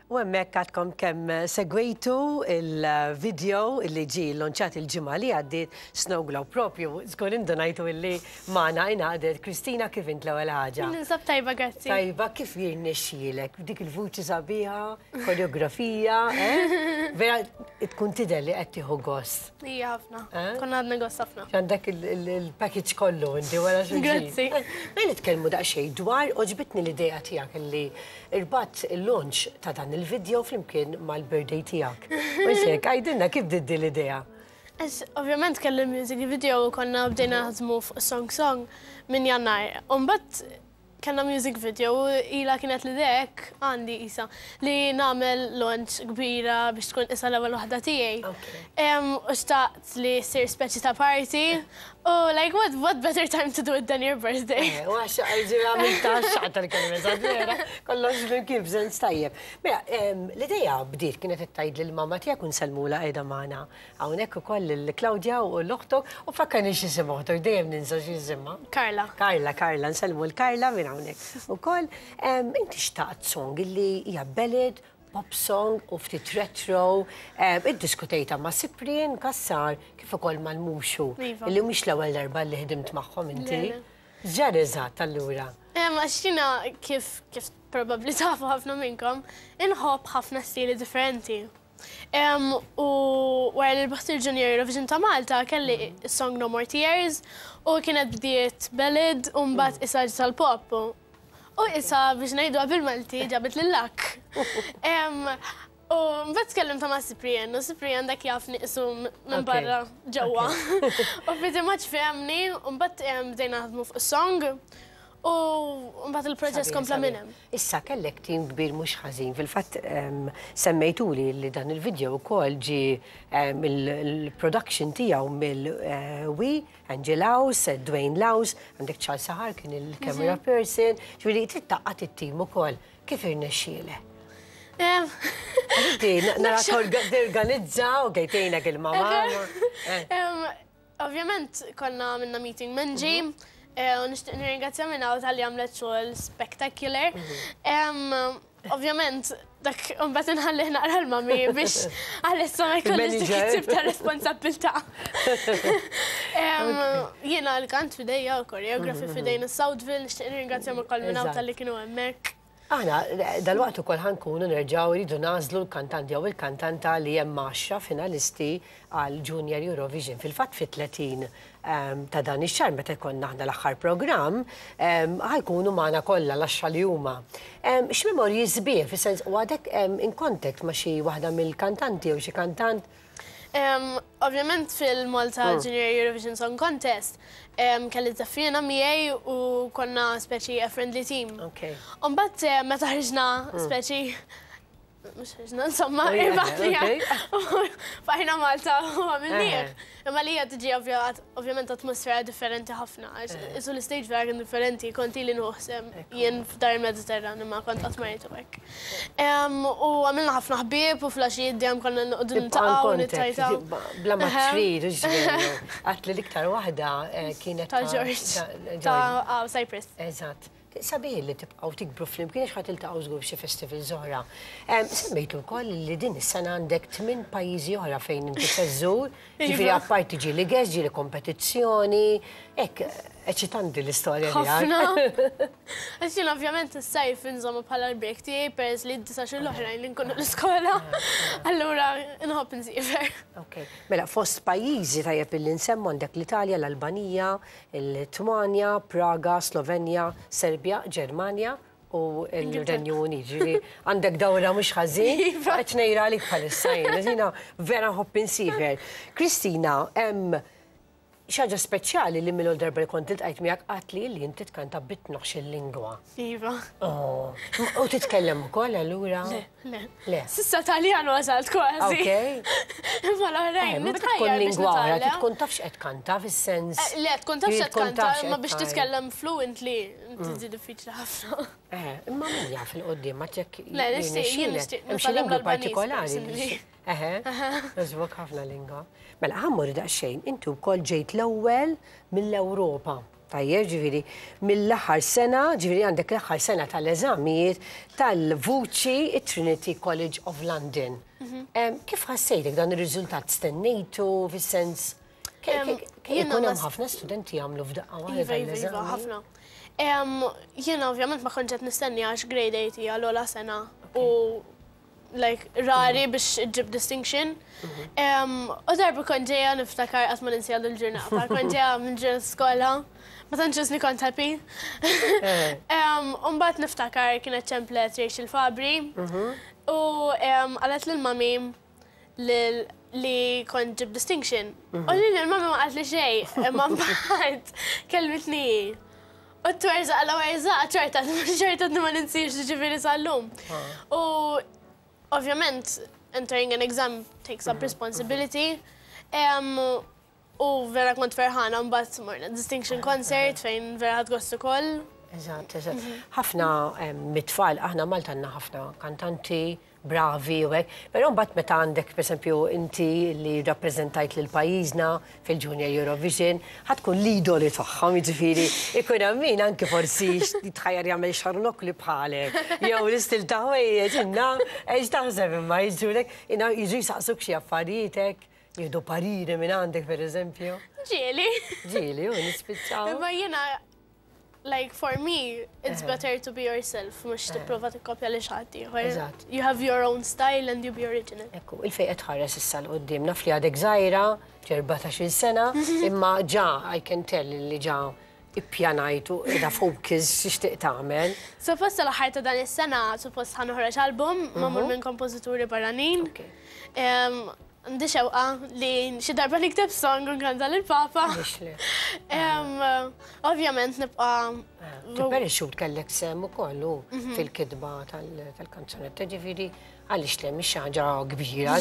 U hemmhekk għadkom kemm segwejtu il-video illi ġie llonċat il-ġimgħa li għaddiet Snow Globe propju. Żgur indunajtu illi magħna ingħaqdet Kristina kif int l-ewwel ħaġa? Ninsab tajba grazzi. Tajba kif jirnexxielek b'dik il-vuċi sabiħa, koreografija, eh? Vera tkun tidher li qed tieħu gost. Ija ħafna. Eh? Konna għadna gost ħafna. Għandek il-package kollu inti wara xulxin. Grazzi. Ejja nitkellmu daqsxejn dwar għoġbitni l-idea tiegħek illi Irbatt il-launch ta' dan il-video flimkien mal-birthday tiegħek. Mhux hekk, għidilna kif bdiet din l-idea? Għax ovvjament kelli music video u konna bdejna naħdmu fuq Song Song minn Jannar. U mbagħad kellna music video u ilha kienet l-idea hekk għandi qisha li nagħmel launch kbira biex tkun qisha l-ewwel waħda tiegħi. U xtaqt li ssir speċi ta' party U like what what better time to do it than your birthday? Eh, u għax għamilta xaqta l-kelma vera, kollox flimkien f'sens tajjeb. Mela, l-idea bdiet kienet qed tgħid lill-mamma tiegħek u nsellmulha qiegħda magħna hawnhekk ukoll lil Claudia u l-oħtok u fakkarni x'isim oħtok, dejjem ninsa x'isimha. Carla. Carla, Carla, nsellmu l Carla minn hawnhekk ukoll. Inti xtaqt song illi hija ballad pop song u ftit retro, iddiskutejtha ma' Cyprian Cassar kif ukoll mal-Muxu, Iva. illi mhix l-ewwel darba li ħdimt magħhom inti. Le, le. X'ġara eżatt allura? Għax jiena kif kif probabbli tafu ħafna minnkom, inħobb ħafna stili differenti. U wara li rbaħt il-Junior Eurovision ta' Malta kelli s-song No More Tears u kienet bdiet ballad u mbagħad issa ġiet għall-pop. U issa biex ngħiduha bil-Malti ġabet lil-lakk. U mbagħad tkellimta ma' Cyprian u Cyprian dak jaf nieqsu minn barra ġewwa. U pretty much fehmni u mbagħad bdejna naħdmu fuq is-song u mbagħad il-proċess kompla minn hemm. Issa kellek tim kbir mhux ħażin. Fil-fatt semmejtuli li dan il-video wkoll ġie il-production tiegħu mill-We Angie Laus, Dwayne Laus, għandek Charles Sahar kien il-camera person, ġifieri trid tgħaqqad it-tim ukoll. Kif irnexxielek? Inti nara torganizza u tgħinek il-mama. Ovvjament konna għamilna meeting minn Angie u nixtieq nirringrazzja minn hawn talli għamlet xogħol spectacular. Ovvjament, dak imbagħad inħallih naqra l-mami biex għalissa ma jkollix dik it-tip ta' responsabbiltà. Jiena l-kant f'idejja u koreografi f'idejn is-Southville, nixtieq nirringrazzjahom ukoll minn hawn talli kienu hemmhekk. Aħna dalwaqt ukoll ħa nkunu nerġgħu rridu nagħżlu l-kantant jew il-kantanta li hemm għaxra finalisti għal Junior Eurovision. Fil-fatt fit-30 ta' dan ix-xahar meta jkollna aħna l-aħħar programm, ħa jkunu magħna kollha l-għaxra li huma. X'memorji sbieħ, fis-sens u għadek in contact ma' xi waħda mill-kantanti jew xi kantant? Ovvjament fil-Malta Junior Eurovision Song Contest kelli żeffiena miegħi u konna speċi a friendly team. U mbagħad meta ħriġna speċi Mux ħriġna, insomma, irbaħtnija. Bajna Malta u għamilnieh. Imma li hija tiġi ovvjament atmosfera differenti ħafna. Isu l-istage vera kien differenti, kont ili nuħsem jien f'dar il-Mediterran imma kont qatt ma rajtu hekk. U għamilna ħafna ħbieb u fl-għaxijiet dejjem konna noqogħdu niltaqgħu u nittajtaw. Bla ma trid, hux veru. Għedt li l-iktar waħda kienet ta' George. Ta' Cyprus. Eżatt. Sabiħ li tibqgħu tikbru flimkien għax ħa tiltaqgħu żgur f'xi festivals oħra. Semmejtu wkoll li din is-sena għandek tminn pajjiżi oħra fejn inti se żżur, ġifieri apparti ġieli guest, ġieli kompetizzjoni, hekk eċitanti l-istorja tiegħek. Ħafna. Għax jien ovvjament is-sajf inżommu bħala l-break tiegħi peress li d-disa' xhur l-oħrajn li nkunu l-iskola. Allura nħobb insiefer. Ok. Mela fost pajjiżi tajjeb illi nsemmu għandek l-Italja, l-Albanija, il-Litwanja, Praga, Slovenja, Serbja, Ġermanja u l-Renju Unit. Ġifieri għandek dawra mhux ħażin. Iva. Qed ngħira għalik bħalissa jien. Jiena vera nħobb insiefer. Kristina, hemm xi ħaġa speċjali li mill-ewwel darba li kont iltqajt miegħek għadtli li inti tkanta bi tnax-il lingwa. Iva. Oh. U titkellem ukoll allura? Le. Le. Le. Sissa Taljan wasalt kważi. Ok. Imma l-oħrajn Eh, Meta tkun nitħajjar biex lingwa oħra, nitgħallem. tkun taf x'qed tkanta fis-sens. Eh, Le, tkun taf x'qed Tkun tkanta, taf x'qed imma biex tgħid. titkellem fluently tiġi diffiċli ħafna. Eh, imma min jaf il-qoddim ma ċek. Le, nixtieq, jien nixtieq Hemm xi nitgħallem lingwi l-Albaniż partikolari. li personally. xi- Eħe, għoġbok ħafna lingwa. Mela, ħa mmur daqsxejn, inti wkoll ġejt l-ewwel mill-Ewropa. Tajjeb, ġifieri mill-aħħar sena, ġifieri għandek l-aħħar sena tal-eżamijiet tal-vuċi Trinity College of London. Kif ħassejtek dan ir-riżultat stennejtu fis-sens? Ikun hemm ħafna studenti jagħmlu f'daqqa waħda. Iva, iva, iva, ħafna. Jiena ovvjament ma kontx qed nistenni għax grade 8 hija l-ogħla sena u like rari biex iġġib distinction. U darba kont ġejja niftakar qatt ma ninsiha l-ġurnata, kont ġejja minn ġurnata skola, ma tantx isni kont happy. U mbagħad niftakar kienet ċemplet Rachel Fabri u qalet lil mami li kont ġib distinction. U li l-mami ma qalet li xejn, imma mbagħad kellmitni. U t-twerżaq la werżaq, ċerta, ċerta ma ninsiex ġifieri sal-lum. U ovvjament, entering an exam takes up responsibility. U vera kont ferħana mbagħad morna distinction concert fejn vera ħadt gost ukoll. Eżatt, eżatt. Ħafna mit-tfal, aħna Malta għandna ħafna kantanti, bravi u hekk, però mbagħad meta għandek pereżempju inti li rappreżentajt lil pajjiżna fil-Junior Eurovision, ħa tkun l-idoli tagħhom, jiġifieri ikun hemm min anke forsi jitħajjar jagħmel xarnokli bħalek, jew l-istil ta' ħwejjeġ inna, ex taħseb imma jiġulek, jiġu jisaqsuk xi affarijiet, jieħdu pariri minn għandek pereżempju. Ġieli. Ġieli, u nispiċċaw. Imma jiena like for me, it's better to be yourself, mhux tipprova tikkopja li xi ħadd ieħor. You have your own style and you be original. Ekku, il-fejn qed tħares issa 'l quddiem naf li għadek żgħira, 14-il sena, imma ġa I can tell li ġa ippjanajtu da focus x'tixtieq tagħmel. Suppost l-aħħar ta' dan is-sena, suppost ħa noħroġ album magħmul minn kompożituri barranin. Għandi xewqa li xi darba nikteb song u nkanta lil-Papa. Ovvjament nibqa' Tipperixxu kellek sehem ukoll fil-kitba tal-kanzunetta, ġifieri għaliex le mhix ħaġa kbira,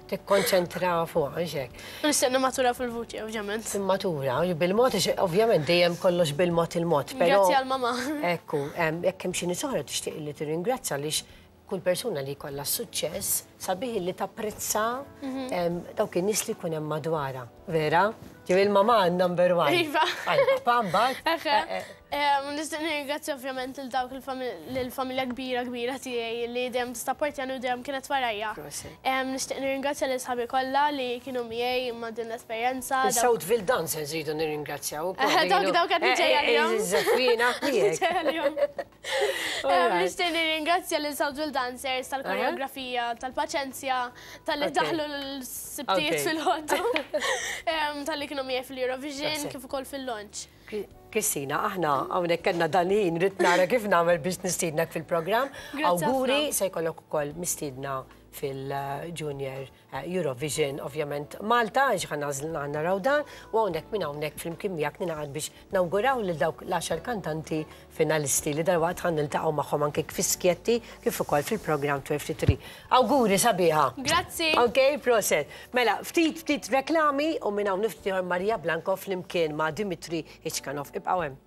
tikkonċentra fuq hekk. Nixtieq nimmatura fil-vuċi, ovvjament. Matura, bil-mod, ovvjament dejjem kollox bil-mod il-mod, però. Grazzi għal-mama. Ekku, jekk hemm xi nies oħra tixtieq li tirringrazzja għaliex kull persuna li jkollha suċċess sabiħ li tapprezza dawk in-nies li jkun hemm madwarha. Vera? Ġifieri il-mama number one. Iva. Għal papà mbagħad. Nixtieq nirringrazzja ovvjament lil dawk il-familja kbira kbira tiegħi li dejjem tissapportjani u dejjem kienet warajja. Nixtieq nirringrazzja lil sħabi kollha li kienu miegħi ma' din l-esperjenza. Il-Southville Dancers rridu nirringrazzjaw ukoll. Dawk qed niġej għalihom. Żeffina miegħek. Nixtieq nirringrazzja lil Southville Dancers tal-koreografija, tal-paċenzja, tal-li daħlu l-sibtijiet fil-ħoddu, tal-li kienu miegħi fil-Eurovision, kif ukoll fil-launch. Kristina, aħna hawnhekk kellna dan-ħin rrid nara kif nagħmel biex nistiednak fil-programm. Awguri se jkollok ukoll mistiedna fil-Junior Eurovision, ovvjament Malta, ġħan għażlna naraw dan, u hawnhekk minn hawnhekk flimkien miegħek ningħaqad biex nawguraw lil dawk l-10 kantanti finalisti li dalwaqt ħa niltaqgħu magħhom anke fi skjetti kif ukoll fil-programm 23. Awguri sabiħa. Grazzi. Ok, proset. Mela, ftit ftit reklami u minn hawn ftit Maria Blanco flimkien ma' Dimitri Iċkanov. Ibqgħu hemm.